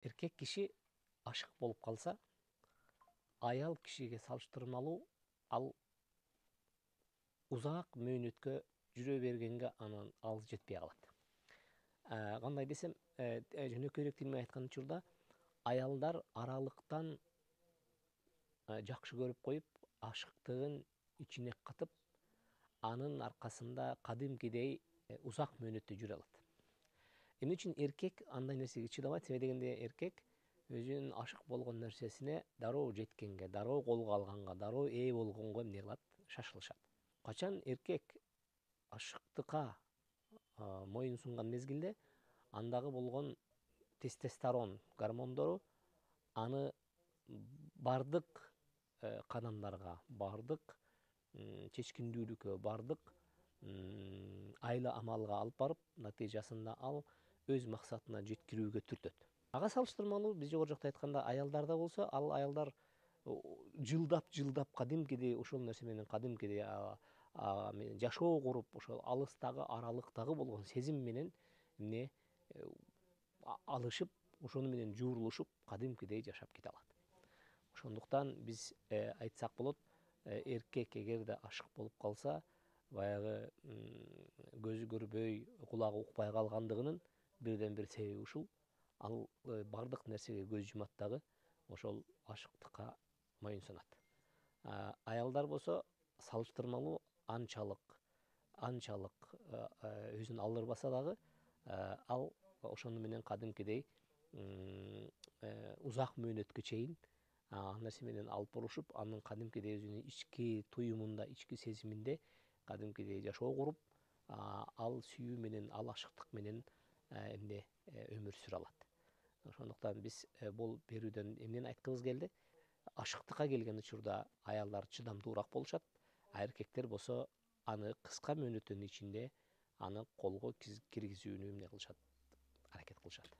Эркек киши ашык болуп калса, аял кишиге салыштырмалуу ал узак мөөнөткө жүрө бергенге анан ал жетпей калат. Кандай десем, жөнөкөйрөөк тил менен айткан учурда аялдар аралыктан жакшы көрүп коюп, ашыктыгын ичине катып, анын аркасында кадимкидей узак мөөнөттө жүрө алат. Эмне үчүн эркек андай нерсеге чыдабайт? Себеби дегенде эркек өзүнүн ашык болгон нерсесине дароо жеткенге, дароо колго алганга, дароо ээ болгонго эмне кылат? Шашылышат. Качан эркек ашыктыкка моюн сунган мезгилде андагы болгон тестостерон гормондору аны бардык кадамдарга, бардык чечкиндүүлүккө, бардык айла амалга алып барып, натыйжасында ал өз максатына жеткирүүгө түртөт. Ага салыштырмалуу биз жогору жакта айтканда аялдарда болсо, ал аялдар жылдап кадимкидей ошол нерсе менен кадимкидей жашоо куруп, ошол алыстагы аралыктагы болгон сезим менен эмне алышып, ошону менен жуурулушуп, кадимкидей жашап кете алат. Ошондуктан биз айтсак болот, эркек эгерде ашык болуп калса, баягы көзү көрбөй, кулагы укпай калгандыгынын бирден бир себеби ушул. Ал бардык нерсеге көз жумат дагы ошол ашыктыкка моюн сунат. Аялдар болсо салыштырмалуу анчалык өзүн алдырбаса дагы, ал ошону менен кадимкидей узак мөөнөткө чейин ал нерсе менен алып борушуп, анын кадимкидей өзүнүн ички туюмунда, ички сезиминде кадимкидей жашоо куруп, ал сүйүү менен, ал ашыктык менен өмүр сүрө алат. Ошондуктан биз бул берүүдөн эмнени айткыбыз келди? Ашыктыкка келген учурда аялдар чыдамдуураак болушат, а эркектер болсо аны кыска мөөнөттүн ичинде аны колго киргизүүнү аракет кылышат.